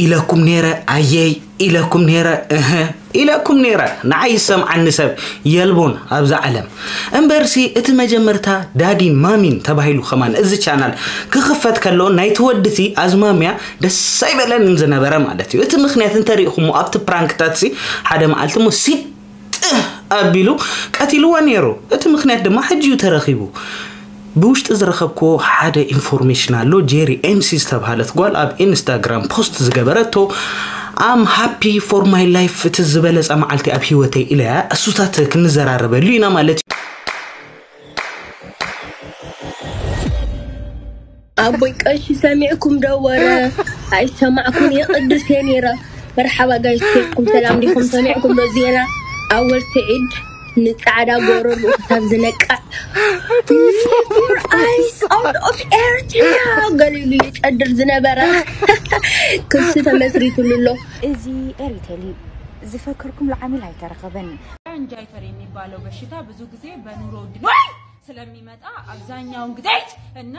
ኢለኩም ነይረ ኣየይ ኢለኩም ነይረ እህ ኢለኩም ነይረ። ንዓይ ይሰምዓኒ ሰብ የልቦን ኣብዛ ዓለም። እምበርሲ እቲ መጀመርታ ዳዲን ማሚን ተባሂሉ ከማን እዚ ቻናል ክኽፈት ከሎ ናይቲ ወድቲ ኣዝማሚያ ደስ ኣይበለንን ዝነበረ ማለት እዩ። እቲ ምኽንያት እንተሪእኹሞ ኣብቲ ፕራንክታት ሲ ሓደ መዓልቲ ሞ ሲጥ ኣቢሉ ቀቲልዋ ነይሩ። እቲ ምኽንያት ድማ ሕጂ እዩ ተረኺቡ። ብውሽጢ ዝረኸብክዎ ሓደ ኢንፎርሜሽን ኣሎ። ጄሪ ኤምሲ ዝተባሃለት ጓል ኣብ ኢንስታግራም ፖስት ዝገበረቶ I'm happy for my life፣ እቲ ዝበለጸ መዓልቲ ኣብ ህይወተይ ኢለያ። እሱታት ክንዘራረበሉ ኢና ማለት እዩ። ኣቦይ ቀሺ ሰሚዕኩም ዶ ወረ? ኣይሰማዕኩን እየ ቅዱስ እየ ነይረ። መርሓባ ጋይስ፣ ኬድኩም ሰላም ዲኹም? ሰሚዕኩም ዶ ዜና? ኣወል ስዒድ ንጻዕዳ ጎረርኡ ክሳብ ዝነቅዕ Lift your eyes out of ኤርትራ ገሊሉ ይጨድር ዝነበረ ክሲ ተመስሪቱሉ ኣሎ። እዚ ኤሪቴል እዩ። ዝፈከርኩም ለዓሚል ኣይተረኸበን። ጃይፈር የሚባለው በሽታ ብዙ ጊዜ በኑሮ ውድነት ስለሚመጣ አብዛኛውን ጊዜ እና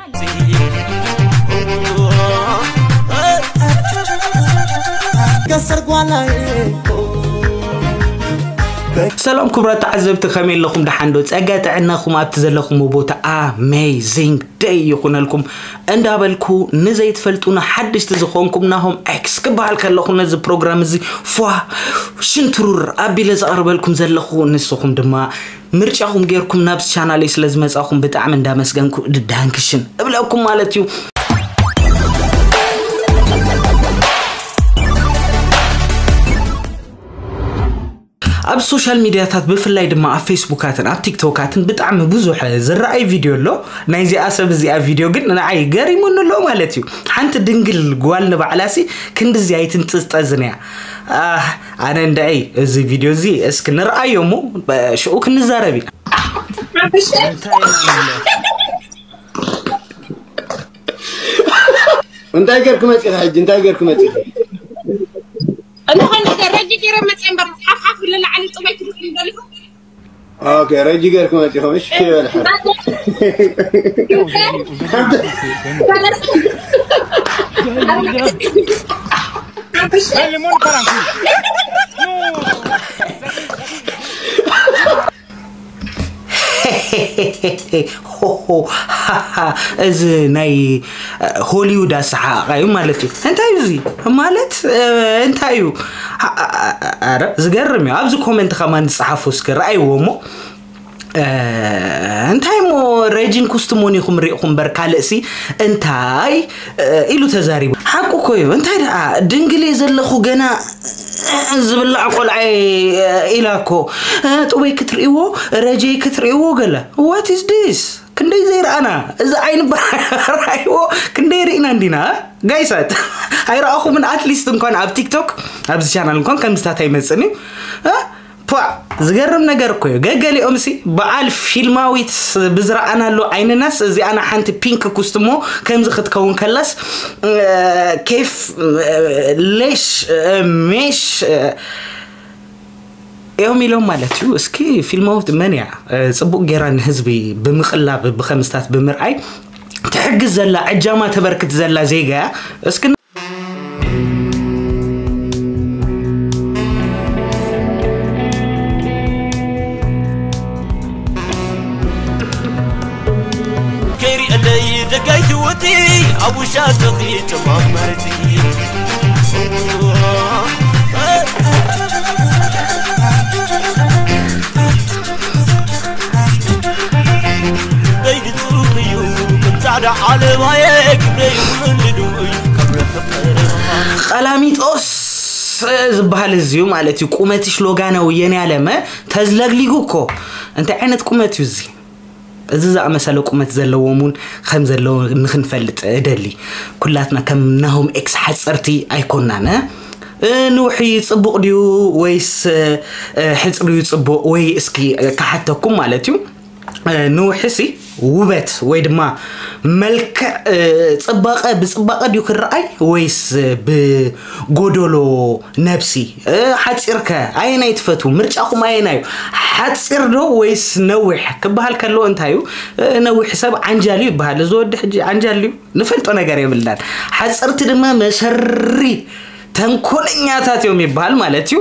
ሰላም ክቡራት ተዓዘብቲ፣ ከመይ ኣለኹም? ደሓን ዶ? ጸጋ ጥዕናኹም ኣብቲ ዘለኹም ቦታ ኣሜዚንግ ደይ ይኹነልኩም እንዳበልኩ፣ ንዘይትፈልጡና ሓድሽቲ ዝኾንኩም ናሆም ኤክስ ክበሃል ከለኹ፣ ነዚ ፕሮግራም እዚ ፏ ሽንትሩር ኣቢለ ዘቕርበልኩም ዘለኹ፣ ንስኹም ድማ ምርጫኹም ጌርኩም ናብዚ ቻናለይ ስለ ዝመጻኹም ብጣዕሚ እንዳመስገንኩ፣ ዳንክሽን እብለኩም ማለት እዩ። ኣብ ሶሻል ሚድያታት፣ ብፍላይ ድማ ኣብ ፌስቡካትን ኣብ ቲክቶካትን ብጣዕሚ ብዙሕ ዝረኣይ ቪድዮ ኣሎ። ናይዚኣ ሰብ እዚኣ ቪድዮ ግን ንዓይ ገሪሙኒ ኣሎ ማለት እዩ። ሓንቲ ድንግል ጓል ንባዕላሲ ክንድዚ ኣይትንጥዝጠዝን እያ። ኣህ፣ ኣነ እንድዒ እዚ ቪድዮ እዚ እስኪ ንርኣዮ እሞ፣ ብ-፣ ሽዑ ክንዛረብ ኢና። እንታይ ጌርክ መጺኻ ሕጂ? እንታይ ጌርክ መጺኻ? እንኾን ነገር ረጂ ገይረ መጽአ እምበር ሓፍሓፍ ብለላዕሊ ጥበይ ትመስል ደሊኹ። ኦኬ፣ ረጂ ጌርክ መጺኻ፣ እሺ፣ ይበል ሓፍ። ሆሆ፣ ሃሃ፣ እዚ ናይ ሆሊውድ ኣሰሓቓ እዩ ማለት እዩ። እንታይ እዩ እዚ ማለት? እ፣ እንታይ እዩ? ኣ-፣ ኣ-፣ ኣ-፣ ኣረ፣ ዝገርም እዩ። ኣብዚ ኮመንት ከማን ዝጸሓፉ እስኪ ረኣይዎ እሞ፣ እ፣ እንታይ እሞ ረጂን ኩስትሞን ኢኹም ሪእኹም እምበር ካልእሲ እንታይ፣ እ፣ ኢሉ ተዛሪቡ። ሓቁ እኮ እዩ። እንታይ ደኣ ድንግል እየ ዘለኹ ገና ዝብላዕ ቆልዓ ኢላ እኮ። እ፣ ጥበይ ክትርእይዎ፣ ረጀይ ክትርእይዎ ገለ። What is this? ክንደይ ዘይረኣና። እዚ ዓይኒ ብራይዎ ክንደይ ርኢና እንዲና፣ እ? ጋይሳት፣ ኣይረኣኹምን? ኣትሊስት እንኳን ኣብ ቲክቶክ፣ ኣብዚ ቻናል እንኳን ከምዝታት ኣይመጽእን እዩ። እ? ፖ፣ ዝገርም ነገር እኮ እዩ። ገገሊኦም ሲ በዓል ፊልማዊት ብዝረኣናሉ ዓይንናስ እዚኣና ሓንቲ ፒንክ ኩስትሞ ከምዚ ክትከውን ከላስ፣ እ፣ ኬፍ፣ እ፣ ሌሽ፣ እ፣ ሜሽ፣ እ፣ እዮም ኢሎም ማለት እዩ። እስኪ ፊልማዊት መን እያ? እ፣ ጽቡቕ ጌራ ንህዝቢ ብምቕላብ ብኸምስታት ብምርኣይ ትሕግዝ ዘላ፣ ዕጃማ ተበርክት ዘላ ዜጋ እያ። እስኪ ከይሪአለይ ደጋይ ትወቲ ኣብ ውሻጥኺ ጽማቕ መርጺ ደይድጹ እዩ ጻዕዳ ዓለባየ ግብረ ይውልዱ እዩ ካብ ርሕቕ ቀረባ ቀላሚጦስ ዝበሃል እዚ እዩ ማለት እዩ። ቁመትሽ ሎጋናዊ የኔ ዓለመ ተዝለግሊጉ እኮ። እንታይ ዓይነት ቁመት እዩ እዚ? እዚ ዝኣመሰለ ቁመት ዘለዎም እውን ከም ዘለዉ ንክንፈልጥ እደሊ። ኩላትና ከም ናሆም ኤክስ ሓፀርቲ ኣይኮናን። እ፣ ንውሒ ጽቡቕ ድዩ ወይስ፣ እ፣ ሕጽሪ እዩ ጽቡቕ? ወይ እስኪ፣ እ፣ ክሓተኩም ማለት እዩ። እ፣ ንውሒሲ ውበት ወይ ድማ መልክዕ፣ እ፣ ጽባቐ ብጽባቐ ድዩ ክረኣይ ወይስ ብጎደሎ ነብሲ? እ፣ ሓጺርከ ኣየናይ ትፈትዉ? ምርጫኹም ኣየናይ እዩ? ሓጺር ዶ ወይስ ነዊሕ ክበሃል ከሎ እንታይ እዩ? እ፣ ነዊሕ ሰብ ዓንጃል እዩ ይበሃል። እዚ ወዲ ሕጂ ዓንጃል እዩ። ንፈልጦ ነገር የብልናን። ሓጸርቲ ድማ መሸሪ ተንኮለኛታት እዮም ይበሃል ማለት እዩ።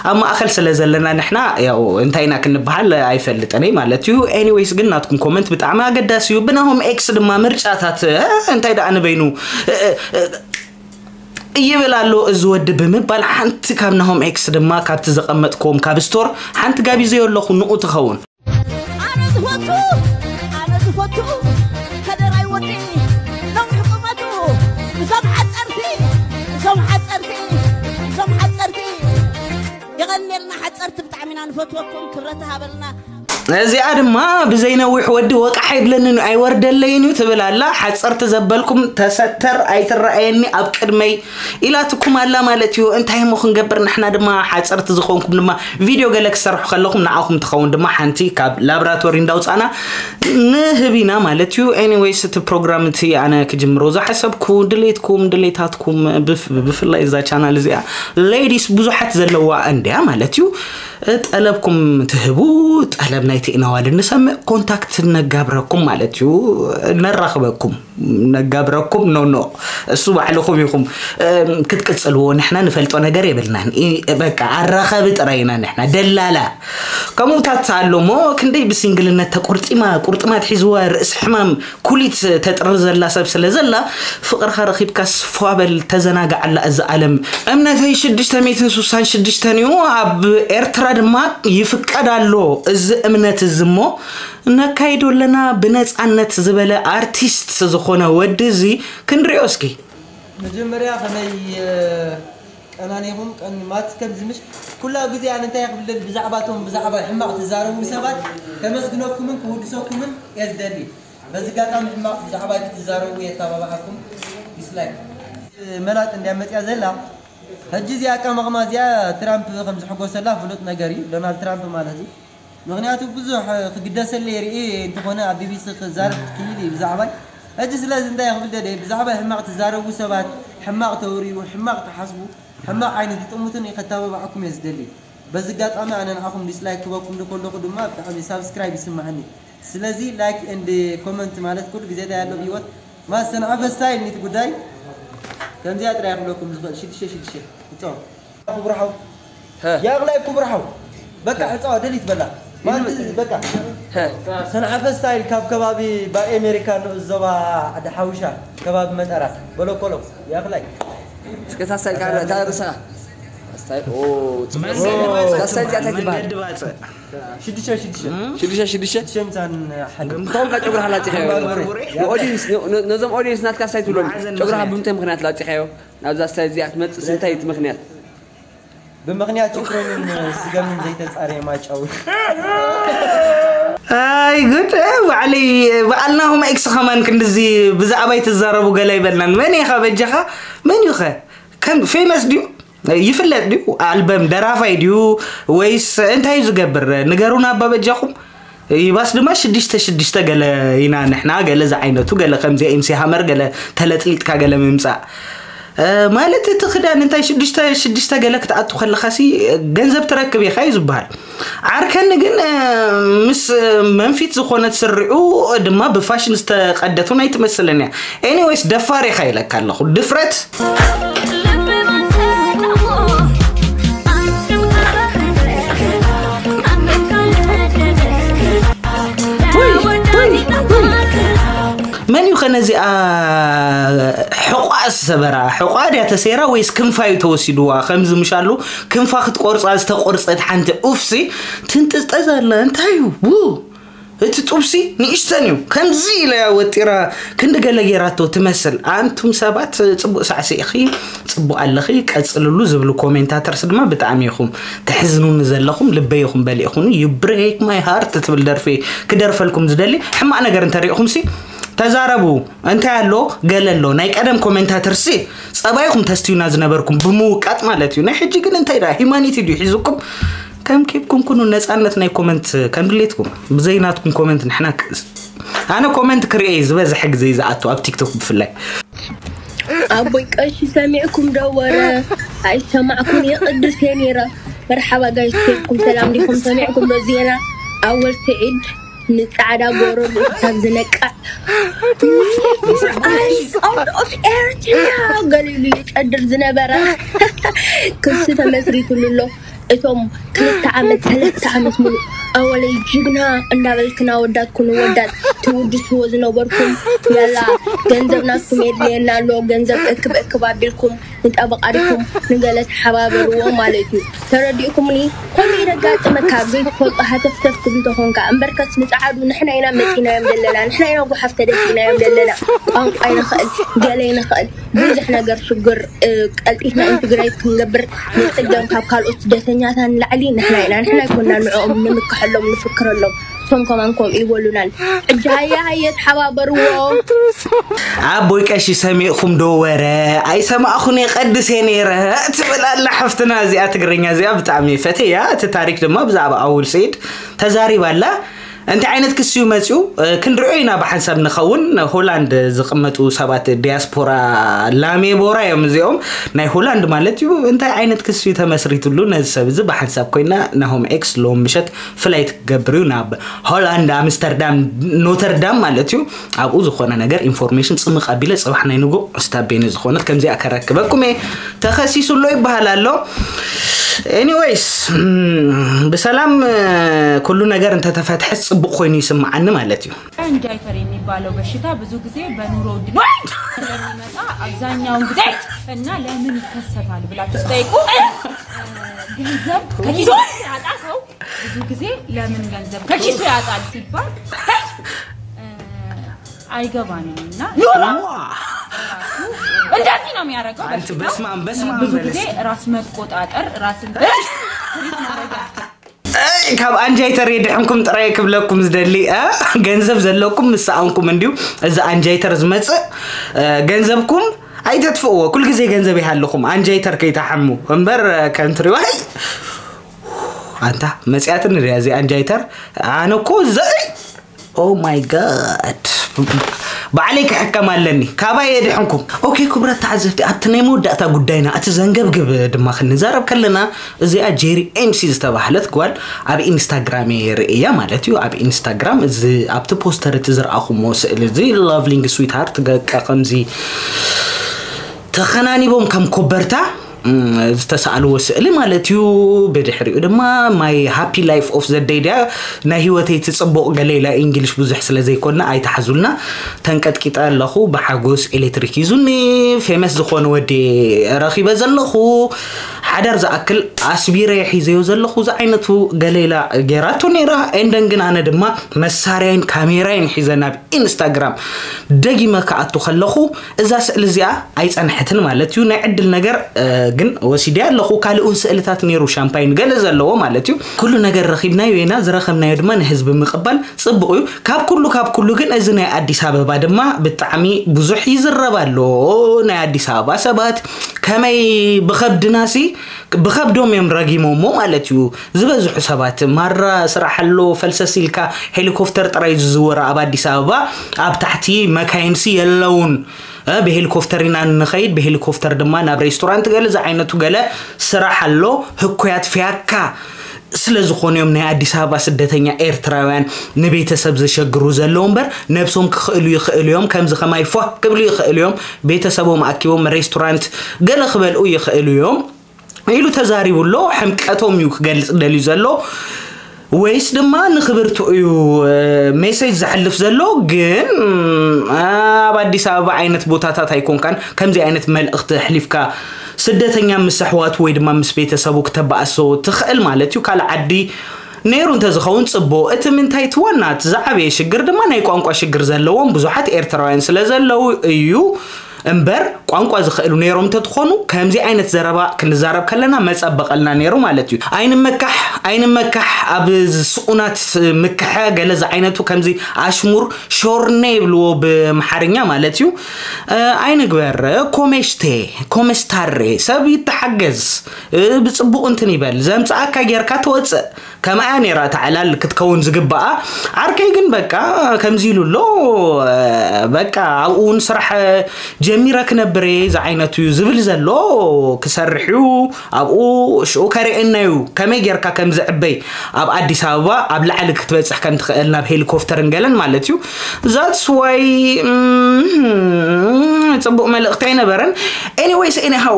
ኣብ ማእኸል ስለ ዘለና ንሕና ያው እንታይ ኢና ክንበሃል ኣይፈልጥን እየ ማለት እዩ። ኤኒዌይስ ግን ናትኩም ኮመንት ብጣዕሚ ኣገዳሲ እዩ። ብናሆም ኤክስ ድማ ምርጫታት እ፣ እንታይ ደኣ ንበይኑ እ፣ እ፣ እ፣ ይብል ኣሎ እዚ ወዲ ብምባል ሓንቲ ካብ ናሆም ኤክስ ድማ ካብቲ ዘቐመጥክዎም ካብ ስቶር ሓንቲ ጋቢዘዮ ኣለኹ ንኡ ትኸውን። ኣነ ዝፈቱ ኣነ ዝፈቱ ከደራይ ወዲ ነዊሕ ቁመቱ እዞም ሓፀርቲ እዞም ሓፀርቲ እዞም ሓፀርቲ የቐንየልና ሓፀርቲ ብጣዕሚ ኢና ንፈትወኩም ክብረት ሃበልና። እዚኣ ድማ ብዘይነዊሕ ወዲ ወቃሕ ይብለንን ኣይወርደለይን እዩ ትብል ኣላ። ሓፀርቲ ዘበልኩም ተሰተር ኣይትረኣየኒ ኣብ ቅድመይ ኢላትኩም ኣላ ማለት እዩ። እንታይ እሞ ክንገብር ንሕና ድማ ሓፀርቲ ዝኾንኩም ድማ ቪድዮ ገለ ክሰርሑ ከለኹም ንዓኹም ትኸውን ድማ ሓንቲ ካብ ላብራቶሪ እንዳውፃና ንህብ ኢና ማለት እዩ። ኤኒዌይስ እቲ ፕሮግራም እቲ ኣነ ክጅምሮ ዝሓሰብኩ ድሌትኩም ድሌታትኩም ብፍ- ብፍላይ እዛ ቻናል እዚኣ ሌዲስ ብዙሓት ዘለዋ እንድያ ማለት እዩ። ጠለብኩም ትህቡ ጠለብ ናይ ቴክናዋል ንሰምዕ ኮንታክት ነጋብረኩም ማለት እዩ። ነራኽበኩም ነጋብረኩም ኖ ኖ እሱ ባዕልኹም ኢኹም ክትቅጽልዎ ንሕና ንፈልጦ ነገር የብልናን። በቃ ኣራኸቢ ጥራይ ኢና ንሕና ደላላ። ከምኡታት ኣሎ እሞ ክንደይ ብሲንግልነት ተቆርጢማ ቁርጥማት ሒዝዋ ርእሲ ሕማም ኩሊት ተጥርር ዘላ ሰብ ስለ ዘላ ፍቕርኻ ረኺብካስ ፏበል ተዘናጋዓላ እዛ ዓለም። እምነተይ ሽዱሽተ ሚእትን ስሳን ሽዱሽተን እዩ። ኣብ ኤርትራ ድማ ይፍቀድ ኣሎ እዚ እምነት እዚ እሞ ነካይዶ ኣለና ብነጻነት ዝበለ ኣርቲስት ዝኾነ ወዲ እዚ ክንሪኦ እስኪ። መጀመርያ ከመይ ቀናኒኹም ቀኒማት ከምዚ ምሽ ኩላ ግዜ ኣነ እንታይ ክብል ብዛዕባቶም ብዛዕባ ሕማቕ ትዛረቡ ሰባት ከመስግነኩምን ክውድሰኩምን እየ ዝደሊ። በዚ ኣጋጣሚ ሕማቕ ብዛዕባ እቲ ትዛረቡ የተባባዓኩም ዲስላይክ መላጥ እንድያ መፅያ ዘላ። ሕጂ እዚኣ ኣቀማቕማ እዚኣ ትራምፕ ከም ዝሕጎሰላ ፍሉጥ ነገር እዩ። ዶናልድ ትራምፕ ማለት እዩ። ምኽንያቱ ብዙሕ ክግደሰለይ ርእየ እንተኾነ ኣብ ቢቢሲ ክዛረብ ክኢል እዩ ብዛዕባይ። ሕጂ ስለዚ እንታይ ክብል ደልየ ብዛዕባይ ሕማቕ ትዛረቡ ሰባት፣ ሕማቕ ተውርዩ፣ ሕማቕ ትሓስቡ፣ ሕማቕ ዓይኒ ትጥምቱኒ ከተባብዓኩም እየ ዝደሊ። በዚ ኣጋጣሚ ኣነ ንዓኹም ዲስላይክ ክበኩም ከለኹ ድማ ብጣዕሚ ሳብስክራይብ ይስምዓኒ። ስለዚ ላይክ ኤንድ ኮመንት ማለት ኩሉ ግዜ እንታይ ኣሎ ብህይወት ማስተንዓፈ ስታይል ኒት ጉዳይ ከምዚኣ ጥራይ ክብለኩም ዝኽእል ሽዱሽተ ሽዱሽተ እቶ ክቡር ሓው ያቕላይ ክቡር ሓው በቃ ዕፃዋ ደሊት በላ ማለት በቃ ሰንዓፈ ስታይል ካብ ከባቢ ባይ ኣሜሪካ ንኡስ ዞባ ዓዲ ሓውሻ ከባቢ መጠራ በለኮሎ ያቕላይ እስከ ሳስታይል ካላ እንታይ ርእስኻ ሳስታይል ኦ ሳስታይል እዚኣ እንታይ ትበሃል ሽዱሽተ ሽዱሽተ ሽዱሽተ ሽዱሽተ ሽዱሽተ ምሳን ሓደ እንቶም ካብ ጨጉርኻ ላፂኻዮ ኦዲንስ ነዞም ኦዲንስ ናትካ ሳይ ትብሎም ጨጉርኻ ብምንታይ ምክንያት ላፂኻዮ ናብዛ ስታይ እዚኣ ክትመፅእ ስንታይ እቲ ምክንያት ብምክንያት ዩክሬንን ስገምን ዘይተፃረየ ማጫው ኣይ ጉድ ባዕለይ በዓልናኹም ኤክስ ከማን ክንድዚ ብዛዕባይ ትዛረቡ ገለ ይበልናን መን ኢኻ በጃኻ መን እዩ ኸ ከም ፌመስ ድዩ ይፍለጥ ድዩ ኣልበም ደራፋይ ድዩ ወይስ እንታይ እዩ ዝገብር ንገሩና ኣባ በጃኹም ይባስ ድማ ሽድሽተ ሽድሽተ ገለ ኢና ንሕና ገለ ዝዓይነቱ ገለ ከምዚ ኤምሲ ሃመር ገለ ተለጥሊጥካ ገለ ምምፃእ ማለት እቲ ክዳን እንታይ ሽዱሽተ ሽዱሽተ ገለ ክትኣቱ ከለኻሲ ገንዘብ ትረክብ ኢኻ እዩ ዝበሃል ዓርከኒ ግን ምስ መንፊት ዝኾነት ስሪኡ ድማ ብፋሽን ዝተቀደት እውን ኣይትመስልን እያ ኤኒዌይስ ደፋር ኢኻ ኢለካ ኣለኹ ድፍረት መን እዩ ከነዚኣ ሕቋ ዝሰበራ ሕቋ ድያ ተሰይራ ወይስ ክንፋ እዩ ተወሲድዋ ከምዚ ምሻሉ ክንፋ ክትቆርፃ ዝተቆርፀት ሓንቲ ኡፍሲ ትንጥዝጠዝ ኣላ እንታይ እዩ ው እቲ ጡብሲ ንእሽተን እዩ ከምዚ ኢለያ ወጢራ ክንዲ ገለ ጌራቶ ትመስል ኣንቱም ሰባት ፅቡቅ ሳዕሲእኺ ፅቡቅ ኣለኺ ቀፅልሉ ዝብሉ ኮሜንታተርስ ድማ ብጣዕሚ ኢኹም ተሕዝኑኒ ዘለኹም ልበይ ኢኹም በሊእኹኒ you break my heart ትብል ደርፊ ክደርፈልኩም ዝደሊ ሕማቅ ነገር እንተሪእኹምሲ ተዛረቡ እንታይ ኣሎ ገለ ኣሎ ናይ ቀደም ኮሜንታተርሲ ጸባይኹም ተስትዩና ዝነበርኩም ብምውቃጥ ማለት እዩ ናይ ሕጂ ግን እንታይ ደኣ ሂማኒቲ ድዩ ሒዙኩም ከም ኬብኩም ኩኑ ነጻነት ናይ ኮመንት ከም ድሌትኩም ብዘይ ናትኩም ኮመንት ንሕና ኣነ ኮመንት ክርእየ ዝበዝሐ ግዜ ዝኣቱ ኣብ ቲክቶክ ብፍላይ ኣቦይ ቀሺ ሰሚዕኩም ዶ ወረ ኣይሰማዕኩም የቅድስ የኔራ መርሓባ ጋይስ ኬድኩም ሰላም ዲኹም ሰሚዕኩም ዶ ዜና ኣወል ስዒድ ንጻዕዳ ጎረር ክሳብ ዝነቅዕ፣ በዓል ኣውት ኦፍ ኤርትራ ገሊሉ ይጨድር ዝነበረ ክሲ ተመስሪትሉ ኣሎ። እቶም ክልተ ዓመት ሰለስተ ዓመት ሙሉ ኣወለይ ጅግና እንዳበልክና ወዳት ኩኑ ወዳት ትውድስዎ ዝነበርኩም፣ ያላ ገንዘብ ናትኩም የድልየና ኣሎ፣ ገንዘብ እክብ እክብ ኣቢልኩም ንጠበቃ ዲኹም ንገለ ተሓባበርዎ ማለት እዩ። ተረዲእኩምኒ? ከምኡ ይረጋጥመካ። ኣብ ዘይትፈልጦ ሃተፍተፍ ትብል ተኾንካ እምበርከስ ንጸዓዱ ንሕና ኢና መጺናዮም ዘለና፣ ንሕና ኢና ጓሓፍ ተደፊእናዮም ዘለና። ቋንቋ ይንኽእል፣ ገለ ይንኽእል፣ ብዙሕ ነገር ሽግር፣ እ፣ ቀልጢፍና ኢንትግሬት ክንገብር ንጽገም። ካብ ካልኦት ስደተኛታት ንላዕሊ ንሕና ኢና፣ ንሕና ኣይኮና ንዕኦም ንምክሐሎም ንፍክረሎም። እሶም ከማን ከምኡ ይበሉናን። ሕጂ ሃየ ሃየ ተሓባበርዎ። ኣቦይ ቀሺ ሰሚዕኹም ዶ ወረ? ኣይሰማዕኹን የቀድስ እየ ነይረ ትብል ኣላ ሓፍትና። እዚኣ ትግርኛ እዚኣ ብጣዕሚ ፈትያ። እቲ ታሪክ ድማ ብዛዕባ ኣውል ሰይድ ተዛሪባ ኣላ። እንታይ ዓይነት ክሲ እዩ መፂኡ? እ፣ ክንሪኦ ኢና ብሓንሳብ ንኸውን። ሆላንድ ዝቕመጡ ሰባት ዲያስፖራ ላሜቦራ እዮም እዚኦም። ናይ ሆላንድ ማለት እዩ። እንታይ ዓይነት ክሲ እዩ ተመስሪትሉ ነዚ ሰብ እዚ? ብሓንሳብ ኮይና ናሆም ኤክስ ሎም ምሸት ፍላይት ክገብር እዩ ናብ ሆላንድ ኣምስተርዳም ኖተርዳም ማለት እዩ። ኣብኡ ዝኾነ ነገር ኢንፎርሜሽን ጽምቕ ኣቢለ ጽባሕ ናይ ንጉ ስታቤኒ ዝኾነት ከምዚኣ ከረክበኩም እየ። ተኸሲሱ ኣሎ ይበሃል ኣሎ። ኤኒዌይስ ብሰላም ኩሉ ነገር እንተተፈትሐ ጽቡቕ ኮይኑ ይስምዓኒ ማለት እዩ። እንጃይተር የሚባለው በሽታ ብዙ ጊዜ በኑሮ ውድነት ስለሚመጣ አብዛኛውን ጊዜ እና ለምን ይከሰታል ብላችሁ ስጠይቁ ገንዘብ ከኪሱ ያጣ ሰው ብዙ ጊዜ ለምን ገንዘብ ከኪሱ ያጣል ሲባል አይገባንም እና እንደዚህ ነው የሚያደርገው። አንቺ በስማም በስማም ብዙ በለስ ጊዜ ራስ መቆጣጠር ራስን ትሪት ማድረግ ያስፈልጋል። ካብ ኣንጃይተር የድሕንኩም ጥራይ ክብለኩም ዝደሊ እ? ገንዘብ ዘለኩም ምስ ሰኣንኩም እንድዩ እዚ ኣንጃይተር ዝመፅእ እ፣ ገንዘብኩም ኣይተጥፍእዎ። ኩል ግዜ ገንዘብ ይሃልኹም ኣንጃይተር ከይተሓሙ እምበር እ፣ ከምትሪዋይ ኣንታ መፅያትን ሪያ እዚ ኣንጃይተር ኣነ እኮ ዘይ Oh my god ባዕለይ ክሕከም ኣለኒ። ካባይ የድሕንኩም። ኦኬ ክቡራት ተዓዘብቲ፣ ኣብቲ ናይ መወዳእታ ጉዳይና፣ እቲ ዘንገብግብ ድማ ክንዛረብ ከለና፣ እዚኣ ጄሪ ኤምሲ ዝተባህለት ጓል ኣብ ኢንስታግራም እየ ርእያ ማለት እዩ። ኣብ ኢንስታግራም እዚ ኣብቲ ፖስተር እቲ ዝረኣኹሞ ስእሊ እዚ ላቭሊንግ ስዊትሃርት ገቃ ከምዚ ተኸናኒቦም ከም ኮበርታ ዝተሳእልዎ ስእሊ ማለት እዩ። ብድሕሪኡ ድማ my happy life of the day ድያ ናይ ህይወተይ ትፅቡቕ ገለ ኢላ ኢንግሊሽ ብዙሕ ስለ ዘይኮና ኣይትሓዙልና። ተንቀጥቂጠ ኣለኹ ብሓጎስ ኤሌክትሪክ ሂዙኒ። ፌመስ ዝኾነ ወዲ ረኺበ ዘለኹ ሓዳር ዝኣክል ኣስቢረ ሒዘዮ ዘለኹ ዝዓይነቱ ገለ ኢላ ገይራቶ ነይራ። ኤንደን ግን ኣነ ድማ መሳርያይን ካሜራይን ሒዘ ናብ ኢንስታግራም ደጊመ ክኣቱ ከለኹ እዛ ስእሊ እዚኣ ኣይጸንሐትን ማለት እዩ። ናይ ዕድል ነገር ግን ወሲደ ኣለኹ። ካልእ እውን ስእልታት ነይሩ ሻምፓይን ገለ ዘለዎ ማለት እዩ። ኩሉ ነገር ረኺብናዮ ኢና። ዝረኸብናዮ ድማ ንህዝቢ ምቕባል ጽቡቕ እዩ። ካብ ኩሉ ካብ ኩሉ ግን እዚ ናይ ኣዲስ ኣበባ ድማ ብጣዕሚ ብዙሕ ይዝረብ ኣሎ። ናይ ኣዲስ ኣበባ ሰባት ከመይ ብኸብድናሲ ብኸብዶም እዮም ረጊሞሞ ማለት እዩ። ዝበዝሑ ሰባት ማራ ስራሕ ኣሎ ፈልሰስ ኢልካ ሄሊኮፕተር ጥራይ ዝዝወር ኣብ ኣዲስ ኣበባ ኣብ ታሕቲ መካይንሲ የለውን። ብሄሊኮፕተር ኢና ንኸይድ ብሄሊኮፕተር ድማ ናብ ሬስቶራንት ገለ ዝዓይነቱ ገለ ስራሕ ኣሎ። ህኩያት ፍያካ ስለ ዝኾኑ እዮም ናይ ኣዲስ ኣበባ ስደተኛ ኤርትራውያን ንቤተሰብ ዘሸግሩ ዘለዉ እምበር ነብሶም ክኽእሉ ይኽእሉ እዮም። ከምዚ ከማይ ፏ ክብሉ ይኽእሉ እዮም። ቤተሰቦም ኣኪቦም ሬስቶራንት ገለ ክበልኡ ይኽእሉ እዮም ኢሉ ተዛሪቡ ኣሎ። ሕምቀቶም እዩ ክገልጽ ደልዩ ዘሎ ወይስ ድማ ንኽብርቱ እዩ ሜሴጅ ዘሕልፍ ዘሎ? ግን ኣብ ኣዲስ ኣበባ ዓይነት ቦታታት ኣይኮንካን ከምዚ ዓይነት መልእኽቲ ኣሕሊፍካ ስደተኛ ምስ ኣሕዋቱ ወይ ድማ ምስ ቤተሰቡ ክተባእሶ ትኽእል ማለት እዩ። ካልእ ዓዲ ነይሩ እንተዝኸውን ጽቡቕ። እቲ ምንታይ እቲ ዋና እቲ ዝዓበየ ሽግር ድማ ናይ ቋንቋ ሽግር ዘለዎም ብዙሓት ኤርትራውያን ስለ ዘለዉ እዩ። እምበር ቋንቋ ዝኽእሉ ነይሮም እንተትኾኑ ከምዚ ዓይነት ዘረባ ክንዛረብ ከለና መጸበቐልና ነይሩ ማለት እዩ። ኣይንመካሕ ኣይንመካሕ ኣብ ስኡናት ምክሐ ገለ ዝዓይነቱ ከምዚ ኣሽሙር ሾርኔ ይብልዎ ብምሓርኛ ማለት እዩ። እ፣ ኣይንግበር ኮሜሽቴ ኮመስታሬ ሰብ ይተሓገዝ እ፣ ብጽቡቕ እንትን ይበል ዘምጽኣካ ጌርካ ትወጽእ ከምኣ ነይራ እታ ዕላል ክትከውን ዝግባኣ። ዓርከይ ግን በቃ ከምዚ ኢሉ ኣሎ። በቃ ኣብኡ እውን ስራሕ ጀሚረ ክነብር እየ ዝዓይነቱ እዩ ዝብል ዘሎ ክሰርሕ እዩ ኣብኡ ሽኡ ከርእየና እዩ ከመይ ጌርካ ከም ዝዕበይ ኣብ ኣዲስ ኣበባ ኣብ ላዕሊ ክትበፅሕ ከም ትኽእል ናብ ሄሊኮፕተርን ገለን ማለት እዩ that's why ፅቡቕ መልእኽቲ ኣይነበረን anyways anyhow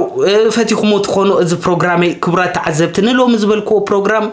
ፈቲኹሞ ትኾኑ እዚ ፕሮግራመይ ክቡራት ተዓዘብቲ ንሎሚ ዝበልክዎ ፕሮግራም